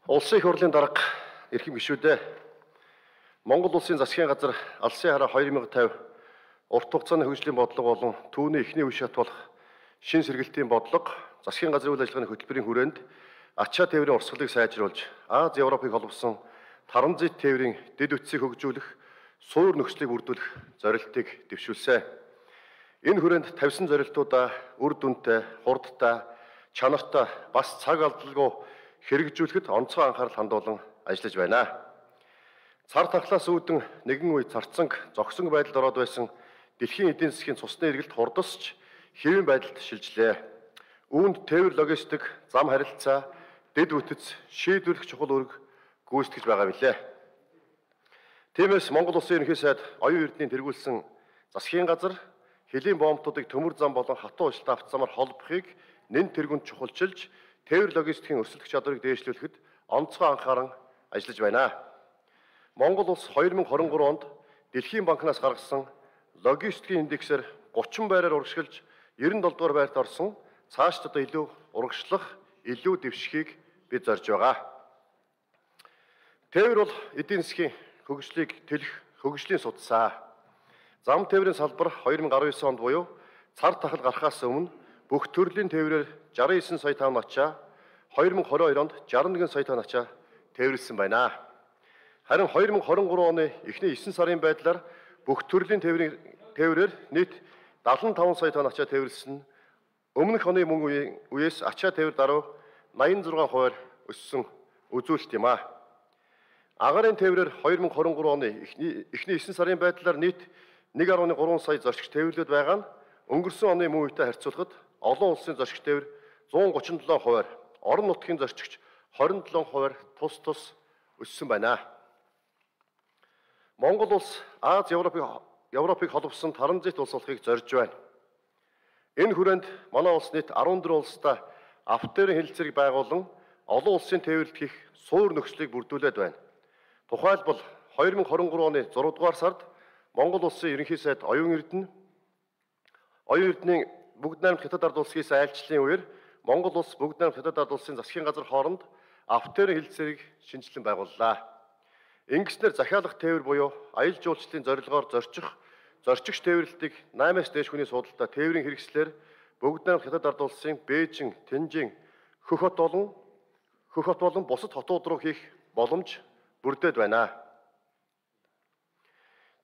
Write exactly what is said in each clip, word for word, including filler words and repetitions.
Улсын их хурлын дарга эрхэм гишүүдээ Монгол улсын засгийн газар Алсын хараа две тысячи пятьдесят урт хугацааны хөгжлийн бодлого болон түүний эхний үе шат болох шин сэргэлтийн бодлого засгийн газрын үйл ажиллагааны хөтөлбөрийн хүрээнд ачаа тээврийн урсгалыг сайжруулж Аз Европыг холбосон транзит тээврийн дэд үтсийг хөгжүүлэх суур нөхцөлийг бүрдүүлэх зорилтыг дэвшүүлсэн. Энэ хүрээнд тавьсан зорилтуудаа үр дүнтэй, хурдтай, чанартай бас цаг алдалгүй хэрэгжүүлэхэд онцгой анхаарал хандуулан ажиллаж байна. Цар тахлаас үүдэн нэгэн үе царцанг зогсон байдалд ороод байсан дэлхийн эдийн засгийн цусны эргэлт хурдасч хэвийн байдалд шилжлээ. Үүнд тээвэр логистик, зам харилцаа, дэд үтц шийдвэрлэх чухал үүрэг гүйцэтгэж байгаа билээ. Тиймээс Монгол улсын ерөнхий сайд оюун эрдэнийн тэргүүлсэн засгийн газар хэлийн боомтуудыг төмөр зам болон хатуу ужилт автозамаар холбохыг нэн тэргүнд чухалчилж тээвэр логистикийн өрсөлдөх чадварыг дээшлүүлэхэд онцгой анхааран ажиллаж байна. Монгол улс две тысячи двадцать три онд Дэлхийн банкнаас гаргасан логистикийн индексээр thirty байраар урагшилж ninety-seven дугаар байрт орсон цаашдаа илүү урагшлах, илүү дэвшихийг бид зорж байгаа. Тээвэр бол эдийн засгийн хөгжлийг тэлэх хөгжлийн судсаа. Зам тээврийн салбар two thousand nineteen онд буюу цар тахал гарахаас өмнө бүх төрлийн тээврээр sixty-nine сая тонн ачаа, two thousand twenty-two онд sixty-one сая тонн ачаа тээвэрлсэн байна. Харин two thousand twenty-three оны эхний nine сарын байдлаар бүх төрлийн тээврийн тээврээр нийт seventy-five сая тонн ачаа тээвэрлсэн. Өмнөх оны мөн үеэс ачаа тээвэр даруй ninety-six хувиар өссөн үзүүлэлт юм а. Агарын тээврээр two thousand twenty-three оны эхний эхний nine сарын байдлаар нийт one point three сая зорчигч тээвэрлээд байгаа нь өнгөрсөн оны мөн үетэй харьцуулахад олон улсын зорчигч тээвэр one thirty-seven хувиар, орон нутгийн зорчигч twenty-seven хувиар тус тус өссөн байна. Монгол улс Аз Европыг Европыг холбосон транзит улс болохыг зорж байна. Энэ хүрээнд манай улс нийт fourteen улстай автоэрийн хэлэлцээг байгуулан олон улсын тээвэрлэлт хийх суур нөхцөлийг бүрдүүлээд байна. Тухайлбал two thousand twenty-three оны six дугаар сард Монгол улсын ерөнхий сайд оюун эрдэнэ оюун эрдэнийн бүгд найрамд хятад ард улсээс айлчлалын үеэр Монгол улс бүгд найрамд хятад ард улсын засгийн газар хооронд автоэрийн хэлэлцээг шинжилэн байгууллаа. Ингэснээр захиалах тээвэр буюу аялал жуулчлалын зорилгоор зорчих, зорчигч тээвэрлэлтийг eight-аас дээш хүний суудалтай тээврийн хэрэгслэр бүгд найрамд хятад ард улсын Бээжин, Тэнжин, Хөх хот болон Хөх хот болон бусад хотууд руу хийх боломж бүрдээд байна.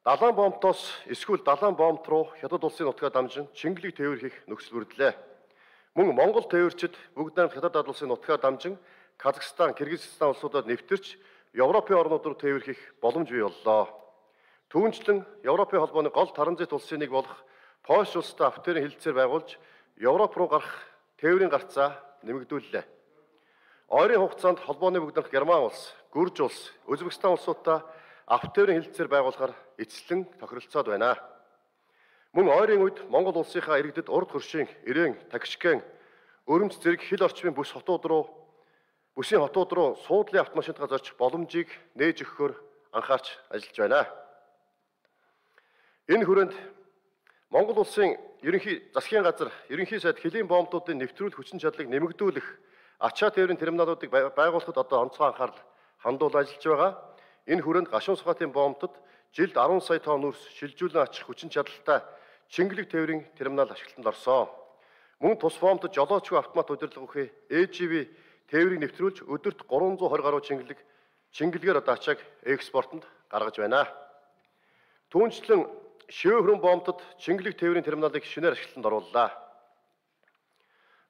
Далайн боомтоос эсвэл далайн боомт руу хятад улсын нутгаа дамжин Чингэлэг тээвэр хийх нөхцөл бүрдлээ. Мөн Монгол тээвэрчид бүгд найрамд хятад ард улсын нутгаа дамжин Казахстан, Киргизстан улсуудад нэвтэрч Европын орнууд руу тээвэр хийх боломж бий боллоо. Түүнчлэн Европын холбооны гол транзит улсын нэг болох Польш улстай автоэрийн хэлэлцээр байгуулж Европ руу гарах тээврийн гарцаа нэмэгдүүллээ. Ойрын хугацаанд холбооны бүгд найрамд Герман улс, Гүрж улс, Өзбекстан улсуудтай автоэрийн хэлэлцээр байгуулахаар эцэслэн тохиролцоод байна. Мөн ойрын үед Монгол улсынхаа иргэдэд урд хөршийн, Ирээн, Такшкент, Өрөмц зэрэг хил орчмын бүс хотууд руу бүсийн хотууд руу суудлын автомашинтаа зорчих боломжийг нээж өгөхөөр анхаарч ажиллаж байна. Энэ хүрээнд Монгол улсын ерөнхий засгийн газар, ерөнхий сайд хэлийн боомтуудын нэвтрүүлэх хүчин чадлыг нэмэгдүүлэх, ачаа тээврийн терминалуудыг байгуулахад одоо онцгой анхаарал хандуул ажиллаж байгаа. Энэ хүрээнд гашуун сухатын боомтод жилд ten сая тонн үрс шилжүүлэн ачих хүчин чадалтай Чингэлэг тээврийн терминал ашиглалтанд орсон. Мөн тус боомтод жолоочгүй автомат удирдлага өгөх A G V тээврийг нэвтрүүлж өдөрт three hundred twenty гаруй Чингэлэг Чингэлгээр одоо ачааг экспортод гаргаж байна. Түүнчлэн шивээ хөрөн боомтод Чингэлэг тээврийн терминалыг шинээр ашиглалтанд орууллаа.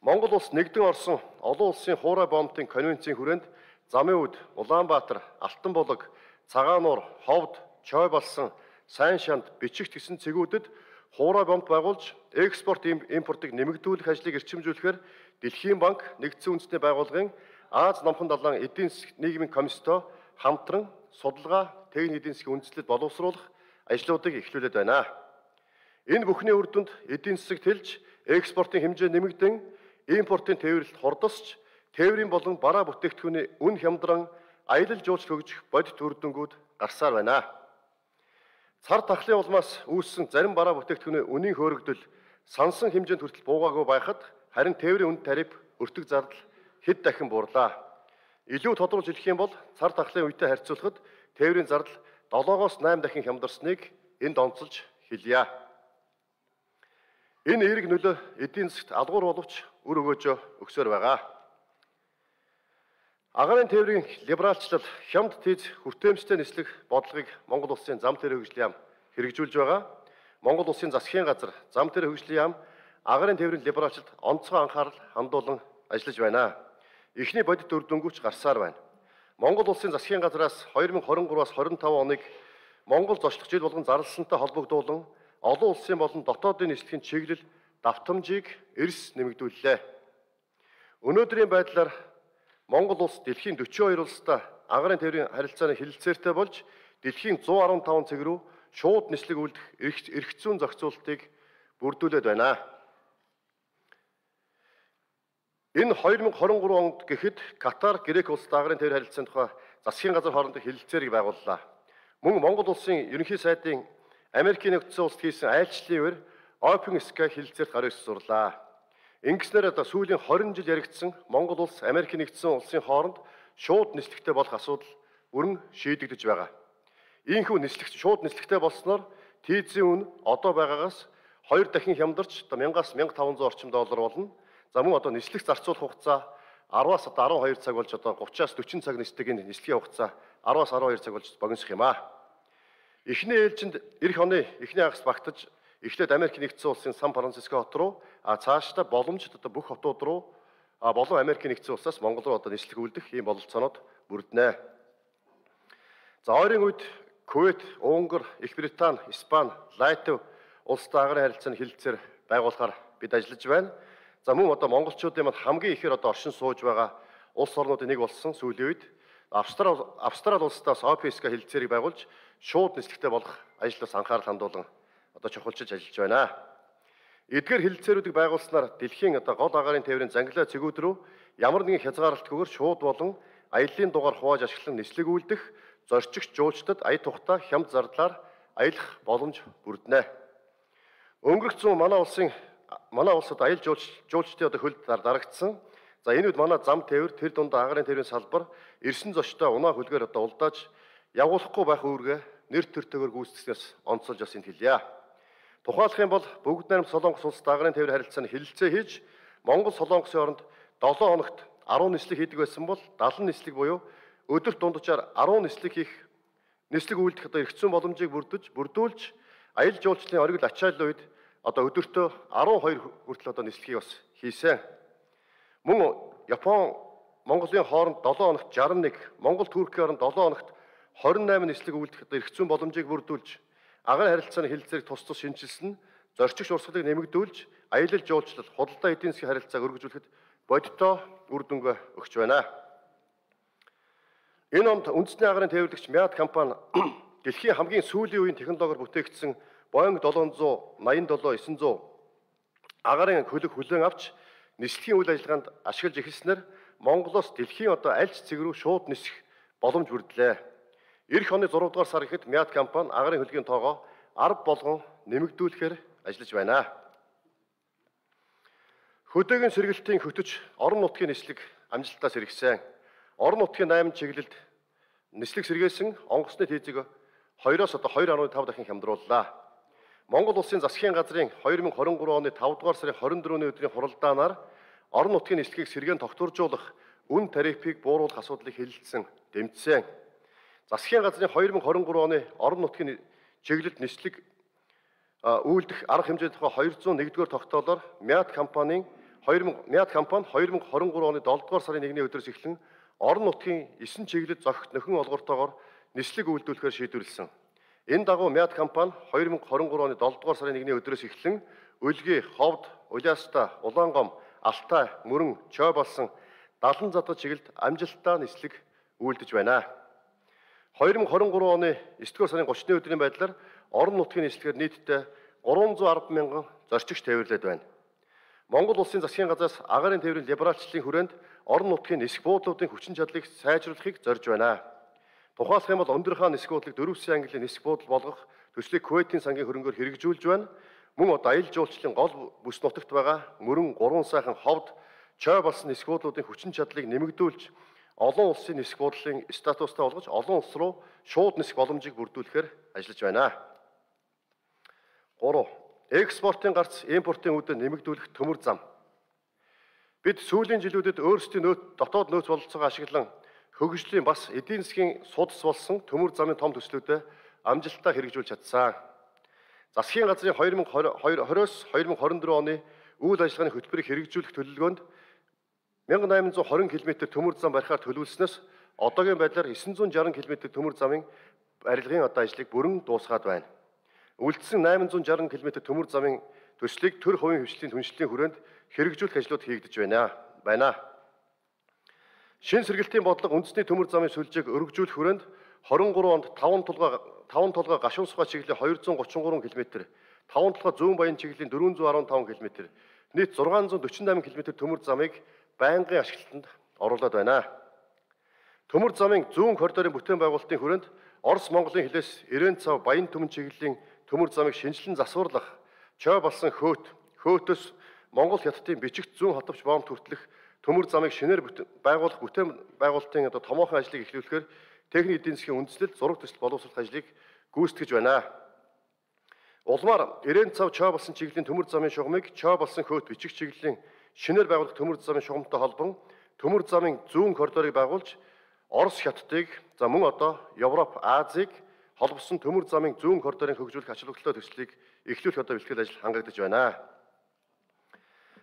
Монгол улс нэгдэн орсон олон улсын хуурай боомтын конвенцийн хүрээнд Замын үд, Улаанбаатар, Алтан булаг, Цагаануур, Ховд, Чой болсон сайн шанд бичигт гэсэн цэгүүдэд хуурай боомт байгуулж экспорт импортыг нэмэгдүүлэх ажлыг эрчимжүүлэхээр Дэлхийн банк, нэгдсэн үндэсний байгууллагын Аз номхон далайн эдийн засгийн нийгмийн комисстой хамтран судалгаа, техник эдийн засгийн үндэслэлд боловсруулах ажлуудыг эхлүүлээд байна. Энэ бүхний үр дүнд эдийн засаг тэлж, экспортын хэмжээ нэмэгдэн, импортын тээвэрлэлт хурдасч, тээврийн болон бараа бүтээгдэхүүний үн хямдран аялал жуулчлал хөгжих бодит үр дүнгууд гарсаар байна. Цар тахлын улмаас үүссэн зарим бараа бүтээгдэхүүний үнийн хөөрөгдөл сансан хэмжээнд хүртэл буугаагүй байхад харин тээврийн үн тариф өртөг зардал хэд дахин буурлаа. Илүү тодруулж хэлэх юм бол цар тахлын үетэй харьцуулахад тээврийн зардал долоогоос найм дахин хямдарсныг энд онцолж хэлье. Энэ эерэг нөлөө эдийн засгт алгуур боловч үр өгөөжөө өгсөөр байгаа. Агаарын тээврийн либералчлал хямд тийз хүртээмжтэй нислэг бодлогыг Монгол улсын зам дээр хөгжлийн яам хэрэгжүүлж байгаа. Монгол улсын засгийн газар зам дээр хөгжлийн яам агаарын тээврийн либералчлалд онцгой анхаарал хандуулан ажиллаж байна. Эхний бодит үр дүнгүйч гарсаар байна. Монгол улсын засгийн газраас хоёр мың хорин гураваас хорин таван оныг Монгол зочлох жил болгон зарлалсантай холбогдуулан олон улсын болон дотоодын нислэгийн чиглэл давтамжийг эрс нэмэгдүүллээ. Өнөөдрийн байдлаар Монгол улс дэлхийн дөчийн хоёр улстай агаарын тээврийн харилцааны хэлэлцээртэй болж дэлхийн зуун арван таван цэг рүү шууд нислэг үлдэх эрх зүйн зохицуултыг бүрдүүлээд байна. Энэ хоёр мың хорин гурав онд гэхэд Катар, Грек улстай агаарын тээврийн харилцааны тухай засгийн газар хоорондох хэлэлцээрийг байгууллаа. Мөн Монгол улсын ерөнхий сайдын Америкийн нэгдсэн улсад хийсэн айлчлалын үеэр Open Sky хэлэлцээрт гараа сурлаа. Ингэснээр одоо сүүлийн хорин жил яригдсан Монгол улс Америкийн нэгдсэн улсын хооронд шууд нислэгтэй болох асуудал бүрэн шийдэгдэж байгаа. Ийхүү нислэг шууд нислэгтэй болсноор тийзийн үн одоо байгаагаас хоёр дахин хямдарч одоо мянгаас мянга таван зуун орчим доллар болно. За мөн одоо нислэг зарцуулах хугацаа араваас одоо арван хоёр цаг болж одоо гуравчаас дөрвөн цаг нислэгийн нислэгийн хугацаа араваас арван хоёр цаг болж богиносох юм аа. Эхний ээлжинд эх оны эхний хагас багтаж эхлээд Америк нэгдсэн улсын Сан Франциско хот руу а цаашдаа боломжит одоо бүх хотууд руу а болон Америк нэгдсэн улсаас Монгол руу одоо нислэг үлдэх ийм бололцоонууд бүрднэ. За ойрын үед Кувейт, Унгар, Их Британи, Испани, Латви улстай агаарын харилцааны хэлэлцээр байгуулахаар бид ажиллаж байна. За мөн одоо монголчуудын манд хамгийн ихээр одоо оршин сууж байгаа улс орнуудын нэг болсон сүүлийн үед Австрали Австрали улстай Open Sky хэлэлцээрийг байгуулж шууд нислэгтэй болох ажлаас анхаарал хандуулан одоо чухалчилж ажиллаж байна. Эдгээр хэлэлцээрүүдийг байгуулснаар дэлхийн одоо гол агаарын тээврийн зангилаа цэгүүд рүү ямар нэгэн хязгаарлалтгүйгээр шууд болон аяллаа дугаар хувааж ашиглан нислэг үлдэх зорчигч жуулчдад ая тухтай хямд зардлаар аялах боломж бүрднэ. Өнгөрсөн манай улсын манай улсад аялал жуулч жуулчдын одоо хөлд дарагдсан. За энэ үед манай зам тээвэр тэр дундаа агаарын тээврийн салбар эрсэн зочтой унаа хөлгээр одоо улдааж явуулахгүй байх үүргээ нэр төртөөр гүйцэтгснээс онцолж бас энд хэлье. Тухайлах юм бол бүгд найрамд Солонгос улстай агаарын тээврийн харилцааны хэлэлцээ хийж Монгол Солонгосын хооронд долоо хоногт арван нислэг хийдэг байсан бол дадлан нислэг буюу өдөрт дунджаар арван нислэг хийх нислэг үйлдэх одоо эрх зүйн боломжийг бүрдэж бүрдүүлж аялал жуулчлалын оргил ачааллын үед одоо өдөртөө арван хоёр хүртэл одоо нислэгийг бас хийсэн. Мөн Япон Монголын хооронд долоо хоногт шарм нэг, Монгол Туркийн хооронд долоо хоногт хорин найман нислэг үйлдэх одоо эрх зүйн боломжийг бүрдүүлж агаарын харилцааны хэлэлцээрийг тус тус шинжилсэн, зорчигч урсгалыг нэмэгдүүлж аялал жуулчлал, худалдаа эдийн засгийн харилцааг өргөжүүлэхэд бодиттой үр дүнгээ өгч байна. Энэ онд үндэсний агаарын тээвэрлэгч Мяд компани дэлхийн хамгийн сүүлийн үеийн технологиор бүтээгдсэн Boeing долоон зуун найман долоо девять зуун агаарын хөлөг хүлээн авч нислэгийн үйл ажиллагаанд ашиглаж эхэлснээр Монголоос дэлхийн одоо аль ч цэг рүү шууд нисэх боломж бүрдлээ. Ирэх оны зурав дугаар сар ихэд Мяд компани агаарын хөлгийн тоогоо арав болгон нэмэгдүүлэхээр ажиллаж байна. Хөдөөгийн сэргэлтийн хөтөч орон нутгийн нислэг амжилтаас сэргсэн. Орон нутгийн найман чиглэлд нислэг сэргээсэн онгоцны тийзийг хоёроос одоо хоёр нугтал таван дахин хямдрууллаа. Монгол улсын засгийн газрын хоёр мың хорин гурав оны тавар дугаар сарын хорин дөрөвний өдрийн хуралдаанаар орон нутгийн нислэгийг сэргээн тогтворжуулах үн тарифыг бууруулах асуудлыг хэлэлцсэн, дэмжсэн. Засгийн газрын хоёр мың хорин гурав оны орон нутгийн чиглэлд нислэг үйлдэх арга хэмжээ тухай хоёр зуун нэгдүгээр тогтоолоор Мяд компанийн Мяд компани хоёр мың хорин гурав оны долоо дугаар сарын нэгний өдрөөс эхлэн орон нутгийн есөн чиглэлд зохих нөхөн олгортоогоор нислэг үйлдвэрлэхээр шийдвэрлсэн. Энэ дагуу Мяд компани хоёр мың хорин гурав оны долоо дугаар сарын нэгний өдрөөс эхлэн Өлгий, Ховд, Улаастаа, Улаангом, Алтай, Мөрөн, Чой болсон далан задга чиглэлд амжилттай нислэг үйлдэж байна. хоёр мың хорин гурав оны девять дугаар сарын гуравчны өдрийн байдлаар орон нутгийн нислэгээр нийтдээ гурван зуун арван мянган зорчигч тээвэрлээд байна. Монгол улсын засгийн газраас агаарын тээврийн либералчлалын хүрээнд орон нутгийн нисэх буудлуудын хүчин чадлыг сайжруулахыг зорж байна. Тухайлах юм бол өндөр хаан нисэх буудлыг дөрвөн сая ангилын нисэх буудал болгох төслийг Кувейтийн сангийн хөрөнгөөр хэрэгжүүлж байна. Мөн одоо аялал жуулчлалын гол бүс нутагт байгаа Мөрөн, Гурван сайхан, Ховд, Чой болсон нисэх буудлуудын хүчин чадлыг нэмэгдүүлж олон улсын нисэх буудлын статустай болгож олон улс руу шууд нисэх боломжийг бүрдүүлэхээр ажиллаж байна. гурав. Экспортын гарц импортын үүдэ нэмэгдүүлэх төмөр зам. Бид сүүлийн жилүүдэд өөрсдийн нөөц дотоод нөөц бололцоогоо ашиглан хөгжлийн бас эдийн засгийн судас болсон төмөр замын том төслүүдэд амжилттай хэрэгжүүлж чадсан. Засгийн газрын две тысячи двадцать-с две тысячи двадцать четыре оны үйл ажиллагааны хөтөлбөрийг хэрэгжүүлэх төлөвлөгөөнд one thousand eight hundred twenty км төмөр зам барихаар төлөвлөснөөс одоогийн байдлаар nine hundred sixty км төмөр замын барилгын одоо ажлыг бүрэн дуусгаад байна. Үлдсэн eight hundred sixty км төмөр замын төслийг төр хувийн хвшлийн түншлэлийн хүрээнд хэрэгжүүлэх ажлууд хийгдэж байна. байна. Шин сэргэлтийн бодлого үндэсний төмөр замын сүлжээг өргөжүүлэх хүрээнд twenty-three онд five толгой five толгой гашуун сухаа чиглэлийн two hundred thirty-three км, five толгой зүүн баян чиглэлийн four hundred fifteen км, нийт six hundred forty-eight км төмөр замыг байнгын ашиглалтанд оруулаад байна. Төмөр замын зүүн коридорын бүтээн байгуулалтын хүрээнд Орос Монголын хилээс Ирээн цав Баян түмэн чиглэлийн төмөр замыг шинжилэн засварлах, чой болсон хөөт, хөөтөс Монгол хятадын бичигт зүүн хотовч боомт хүртэлх төмөр замыг шинээр байгуулах бүтээн байгуулалтын одоо томоохон ажлыг эхлүүлэхээр техник эдийн засгийн үндэслэл зураг төсөл боловсруулах ажлыг гүйцэтгэж байна. Улмаар Ирээн цав чой болсон чиглэлийн төмөр замын шугамыг чой болсон хөөт бичиг чиглэлийн шинээр байгуулах төмөр замын шугамтай холбон төмөр замын зүүн коридорыг байгуулж Орос хятадыг за мөн одоо Европ, Азийг холбосон төмөр замын зүүн коридорын хөгжүүлэх ач холбогдолтой төслийг эхлүүлэх одоо бэлтгэл ажил хангагдаж байна.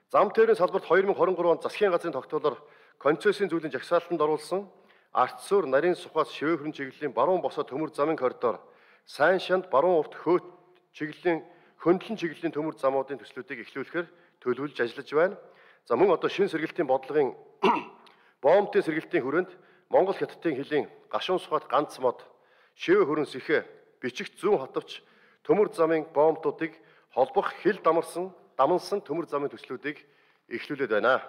Зам тээврийн салбарт two thousand twenty-three онд засгийн газрын тогтоолоор концессийн зүйлийн жагсаалтанд оруулсан Арцсуур, Нарийн сухаас Шивээ хүрэн чиглэлийн баруун босоо төмөр замын коридор, Сайн шанд баруун урт хөөт чиглэлийн хөндлөн чиглэлийн төмөр замуудын төслүүдийг эхлүүлэхээр төлөвлөж ажиллаж байна. За мөн одоо шин сэргэлтийн бодлогын боомтын сэргэлтийн хүрээнд Монгол хятадын хилийн гашуун сухад ганц мод, Шивээ хүрэн сэхэ, бичигт зүүн хотовч төмөр замын боомтуудыг холбох хил дамарсан дамансан төмөр замын төслүүдийг эхлүүлээд байна.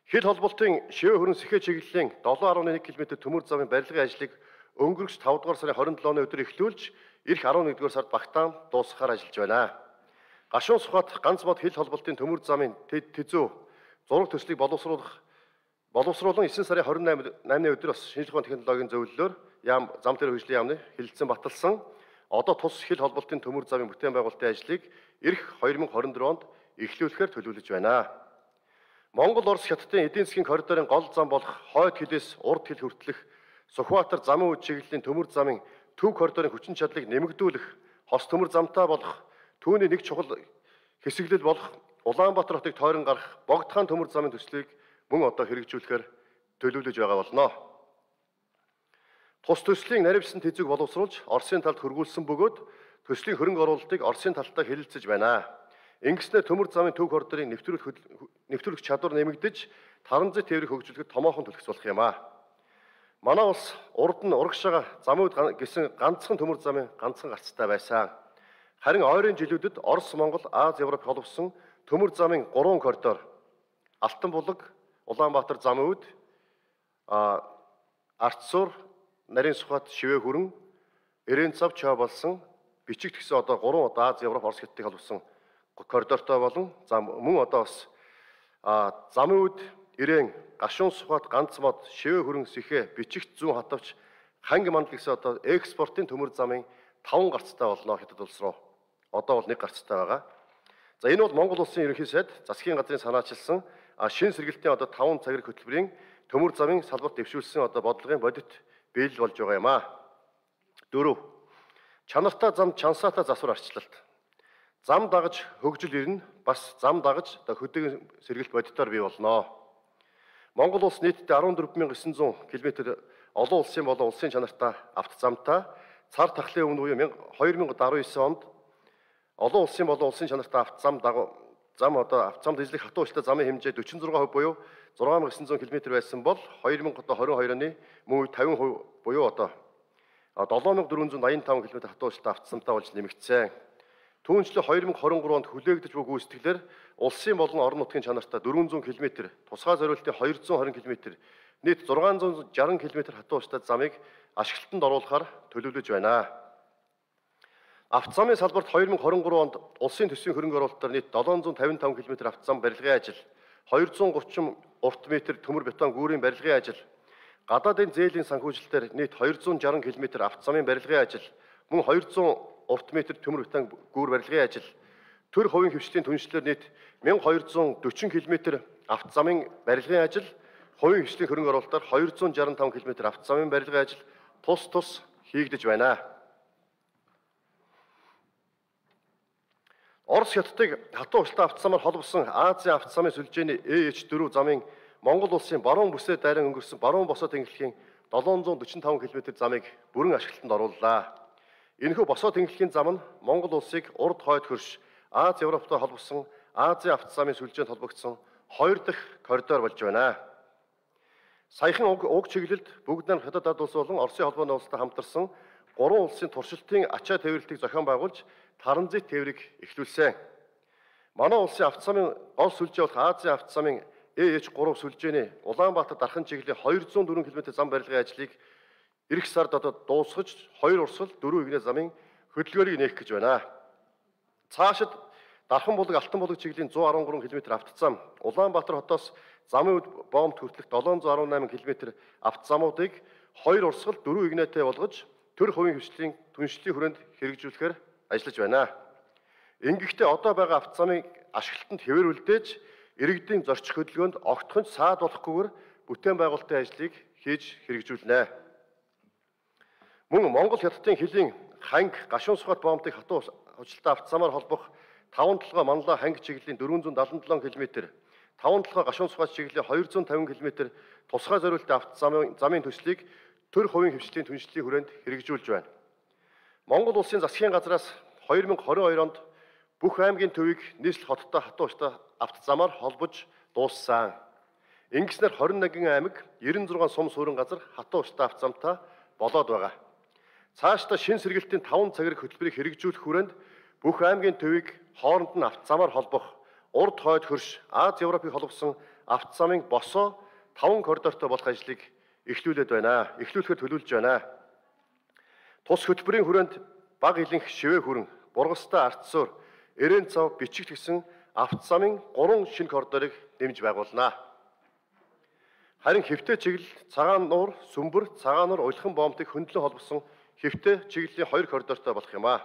Хил холболтын Шивээ хүрэн сэхэ чиглэлийн seven point one км төмөр замын барилгын ажлыг өнгөрөх five дугаар сарын twenty-seven өдөр эхлүүлж, ирэх eleven дугаар сард багтаан дуусгахаар ажиллаж байна. Гашуун сухад ганц мод хил холболтын төмөр замын тэзүү зураг төслийг боловсруулах боловсруулан nine сарын twenty-eight өдөр бас шинжлэх ухааны технологийн зөвлөлөөр яам зам төр хөгжлийн яамны хилцэн баталсан одоо тус хил холболтын төмөр замын бүтээн байгуулалтын ажлыг ирэх twenty twenty-four онд эхлүүлэхээр төлөвлөж байна. Монгол Орос хятадын эдийн засгийн коридорын гол зам болох хойд хилээс урд хил хүртэлх Сүхбаатар замын үе чиглэлийн төмөр замын төв коридорын хүчин чадлыг нэмэгдүүлэх, хос төмөр замтай болох түүний нэг чухал хэсэглэл болох Улаанбаатар хотыг тойрон гарах Богдхан төмөр замын төслийг мөн одоо хэрэгжүүлэхээр төлөвлөж байгаа болно. Тус төслийн наривсан тэзүүг боловсруулж Оросын талд хөргүүлсэн бөгөөд төслийн хөрөнгө оруулалтыг Оросын талтай хэлэлцэж байна. Ингэснээр төмөр замын төв коридорын нэвтрүүлэх нэвтрүүлэх чадвар нэмэгдэж таранзит тээврийг хөгжүүлэхэд томоохон төлөвс болох юм аа. Манай улс урд нь урагшаага замууд гэсэн ганцхан төмөр замын ганцхан гарцтай байсан. Харин ойрын жилүүдэд Орос, Монгол, Аз, Европ холбосон төмөр замын гурван коридор Алтан булаг, Улаанбаатар замууд, Арцсуур, Нарийн сухад Шивээ хүрэн, Ирээн цав чой болсон бичигт гэсэн одоо гурван одоо Аз, Европ, Орос хятадыг холбосон коридортой болон зам мөн одоо бас замууд Ирээн, гашуун сухад ганц мод, Шивээ хүрэн сэхэ, бичигт зүүн хатавч ханги мандал гэсэн одоо экспортын төмөр замын таван гарцтай болно хятад улс руу. Одоо бол нэг гарцтай байгаа. За энэ бол Монгол улсын ерөнхий сайд засгийн газрын санаачилсан шин сэргэлтийн одоо таван цагираг хөтөлбөрийн төмөр замын салбарт дэвшүүлсэн одоо бодлогын бодит биелэл болж байгаа юм аа. Дөрөв. Чанартай зам чансаатай засвар арчлалт. Зам дагаж хөгжил ирнэ, бас зам дагаж одоо хөдөөгийн сэргэлт бодитоор бий болно. Монгол улс нийтдээ fourteen thousand nine hundred км олон улсын болон улсын чанартай автозамтай цар тахлын өмнө буюу twenty nineteen онд олон улсын болон улсын чанартай автозам дагуу зам одоо автозамд эзлэх хатуу ууштай замын хэмжээ forty-six percent буюу six thousand nine hundred км байсан бол twenty twenty-two оны мөн үед fifty percent буюу одоо seven thousand four hundred eighty-five км хатуу ууштай автозамтай болж нэмэгдсэн. Түүнчлэн twenty twenty-three онд хүлээгдэж буй гүйцэтгэлээр улсын болон орон нутгийн чанартай four hundred км, тусгай зориултын two hundred twenty км, нийт six hundred sixty км хатуу ууштай замыг ашиглалтанд оруулахаар төлөвлөж байна. Автозамын салбарт twenty twenty-three онд улсын төсвийн хөрөнгө оруулалтаар нийт seven hundred fifty-five км автозам барилгын ажил, two hundred thirty урт метр төмөр бетон гүүрийн барилгын ажил, гадаадын зээлийн санхүүжилтээр нийт хоёр зуун шарсан км авто замын барилгын ажил, мөн хоёр зуун урт метр төмөр бетон гүүр барилгын ажил, төр хувийн хвшлийн түншлэлээр нийт мянга хоёр зуун дөрвөн км авто замын барилгын ажил, хувийн хвшлийн хөрөнгө оруулалтаар хоёр зуун шарсан таван км авто замын барилгын ажил тус тус хийгдэж байна. Орос хятадыг хатуу ууштай авто замаар холбосон Азийн авто замын сүлжээний Э Эч дөрвөн замын Монгол улсын баруун бүсээ дайран өнгөрсөн баруун босоо тэнхлэхийн долоон зуун дөрвөн таван км замыг бүрэн ашиглалтанд орууллаа. Энэхүү босоо тэнхлэхийн зам нь Монгол улсыг урд хойд хөрш Аз Европтой холбосон Азийн авто замын сүлжээнд холбогдсон хоёр дахь коридор болж байна. Саяхан уг, уг чиглэлд бүгд найрамд хятад ард улс болон Оросын холбооны улстай хамтарсан гурван улсын туршилтын ачаа тээвэрлэлтийг зохион байгуулж Таранзит тээврийг эхлүүлсэн. Манай улсын авто замын гол сүлжээ болох Азийн авто замын Э Эч гурван сүлжээний Улаанбаатар дархан чиглэлийн хоёр зуун дөрвөн км зам барилгын ажлыг эх сард одоо дуусгаж хоёр урсгал дөрвөн игнэ замын хөдөлгөөрийг нээх гэж байна. Цаашид Дархан булаг Алтан булаг чиглэлийн зуун арван гурван км авто зам, Улаанбаатар хотоос замын үд боомт хүртэлх долоон зуун арван найман км авто замуудыг хоёр урсгал дөрвөн игнэтэй болгож төр хувийн хвшлийн түншлэлийн хүрээнд хэрэгжүүлэхээр ажиллаж байна. Ингэхдээ одоо байгаа авто замын ашиглалтанд хэвээр үлдээж иргэдийн зорчих хөдөлгөөнд огтхонч саад болохгүйгээр бүтээн байгуулалтын ажлыг хийж хэрэгжүүлнэ. Мөн Монгол хятадын хилийн ханг гашуун сухат боомтыг хатуу ууштай авто замаар холбох таван толгой манлаа ханг чиглэлийн дөрвөн зуун дадлан долоон км, таван толгой гашуун сухат чиглэлийн хоёр зуун тавин км тусгай зориултын авто замын замын төслийг төр хувийн хвшлийн түншлэлийн хүрээнд хэрэгжүүлж байна. Монгол улсын засгийн газраас хоёр мянга хорин хоёр онд бүх аймгийн төвийг нийслэл хоттой хатуу ууштай авто замаар холбож дууссан. Ингэснээр хорин нэгэн аймаг ерөн зургаан сум суурин газар хатуу ууштай авто замтай болоод байгаа. Цаашдаа шин сэргэлтийн таван цаграг хөтөлбөрийг хэрэгжүүлэх хүрээнд бүх аймгийн төвийг хооронд нь авто замаар холбох урд хойд хөрш Аз Европыг холбосон авто замын босоо таван коридортой болох ажлыг эхлүүлээд байна. Эхлүүлэхээр төлөвлөж байна. Тус хөтөлбөрийн хүрээнд баг илэнх шивээ хүрэн, бургастай ардсуур, эрээн цав бичигт гэсэн авто замын гурван шинэ коридорыг нэмж байгуулнаа. Харин хэвтэ чиглэл цагаан нуур, сүмбэр, цагаан нуур уйлхан боомтыг хөндлөн холбосон хэвтэ чиглэлийн хоёр коридортой болох юм а.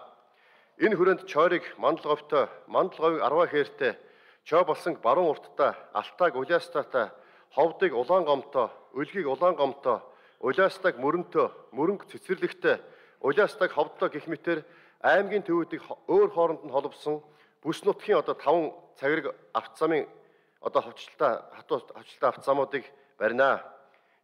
Энэ хүрээнд Чойрыг Мандал говьтой, Мандал говийг Арва хээртэй, Чой болсон баруун урттай, Алтайг Уляастаатай, Ховдыг Улаан гомтой, Өлгийг Улаан гомтой, Уляастайг Мөрөнтөө, Мөрөнг Цэцэрлэгтэй, Уляастайг Ховдтой гэх мэтээр аймгийн төвүүдийг өөр хооронд нь холбосон бүс нутгийн одоо таван цаграг авто замын одоо хөвчлөлтэй хатуу хөвчлөлтэй авто замуудыг барина.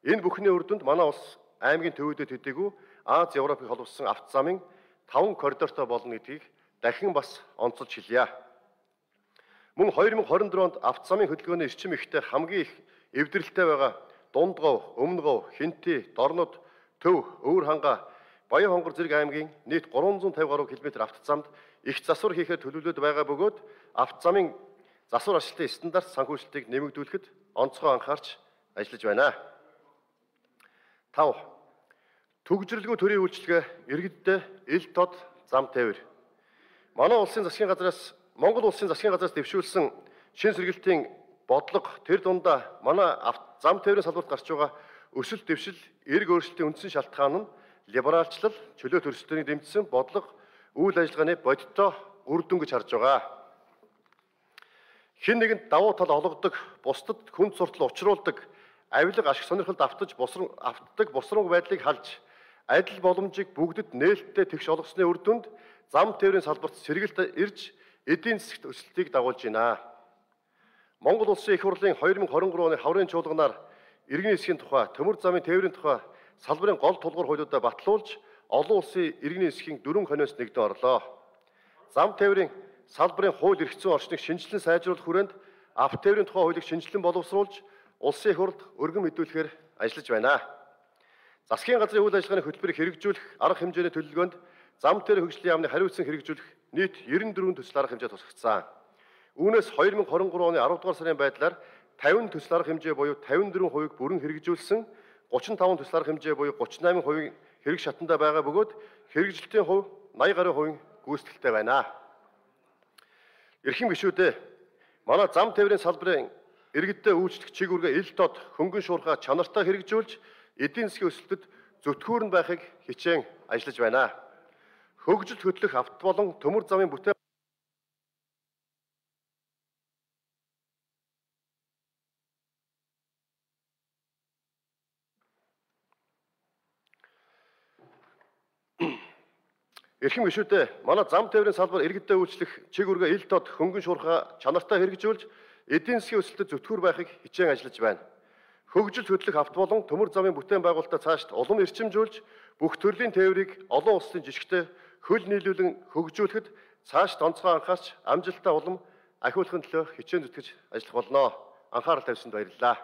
Энэ бүхний үр дүнд манай улс аймгийн төвүүдэд төдийгүй Аз Европыг холбосон авто замын таван коридортой болно гэдгийг дахин бас онцолж хэлье. Мөн хоёр мянга хорин дөрөв онд авто замын хөдөлгөөний эрчим ихтэй хамгийн их эвдрэлтэй байгаа Дундгов, Өмнөгов, Хинти, Дорнод, Төв, Өвөр ханга, Баян хонгор зэрэг аймгийн нийт гурван зуун тавин гаруй км авто замд их засвар хийхээр төлөвлөд байгаа бөгөөд авто замын засвар ашиглалтын стандарт санхүүжилтийг нэмэгдүүлэхэд онцгой анхаарч ажиллаж байна. тав. Төгжрөлгүй төрийн үйлчилгээ иргэддээ ил тод зам тээвэр. Манай улсын засгийн газраас Монгол улсын засгийн газраас дэвшүүлсэн шин сэргэлтийн бодлого тэр дундаа манай зам тээврийн салбарт гарч байгаа өсөлт дэвшил, эрг өөрчлөлтийн үндсэн шалтгаан нь либералчлал, чөлөө төрөлхтөнийг дэмжсэн бодлого үйл ажиллагааны бодиттой үр дүн гэж харж байгаа. Хэн нэгэнд давуу тал олгодог, бусдад хүнд суртал учруулдаг, авилга ашиг сонирхолд автаж босрон автдаг босронг байдлыг халж адил боломжийг бүгдэд нээлттэй тэгш олгосны үр дүнд зам тээврийн салбарт сэргэлт ирж эдийн засгт өсөлтийг дагуулж байна. Монгол улсын их хурлын хоёр мянга хорин гурван оны хаврын чуулганаар иргэний эсхийн тухай, төмөр замын тээврийн тухай салбарын гол тулгуур хуулиудаа батлуулж олон улсын иргэний эсхийн дөрвөн хониос нэгдэн орлоо. Зам тээврийн салбарын хууль эрх зүйн орчныг шинжилэн сайжруулах хүрээнд авто тээврийн тухай хуулийг шинжилэн боловсруулж улсын их хурлд өргөн мэдүүлэхээр ажиллаж байна. Засгийн газрын үйл ажиллагааны хөтөлбөрийг хэрэгжүүлэх арга хэмжээний төлөвлөгөөнд зам тээврийн хөгжлийн яамны хариуцсан хэрэгжүүлэх нийт ерөн дөрвөн төсөл арга хэмжээ тусгагдсан. Үүнээс хоёр мянга хорин гурван оны аравдугаар сарын байдлаар тавин төсөл арга хэмжээ буюу тавин дөрвөн хувийг бүрэн хэрэгжүүлсэн, гучин таван төсөл арга хэмжээ буюу гучин найман хувийн хэрэг шатандаа байгаа бөгөөд хэрэгжилтийн хувь наяа гаруй хувийн гүйцэтгэлтэй байна. Эрхэм гишүүдээ, манай зам тээврийн салбарын иргэдэд үйлчлэх чиг үүргээ ил дод хөнгөн шуурхай чанартай хэрэгжүүлж эдийн засгийн өсөлтөд зөвтгүүрэн байхыг хичээн ажиллаж байна. Хөгжилд хөтлөх авто болон төмөр замын бүтээн Эрхэм гишүүдээ манай зам тээврийн салбар иргэдэд үйлчлэх чиг үүргээ ил дод хөнгөн шуурхай чанартай хэрэгжүүлж эдийн засгийн өсөлтөд зөвтгүүр байхыг хичээн ажиллаж байна. Хөгжилд хөтлөх авто болон төмөр замын бүтээн байгуулалтаа цаашд улам эрчимжүүлж бүх төрлийн тээврийг олон улсын жишгтэй хөл нийлүүлэн хөгжүүлэхэд цаашд онцгой анхаарч амжилттай улам ахиулахын төлөө хичээн зүтгэж ажиллах болно. Анхаарал тавьсанд баярлалаа.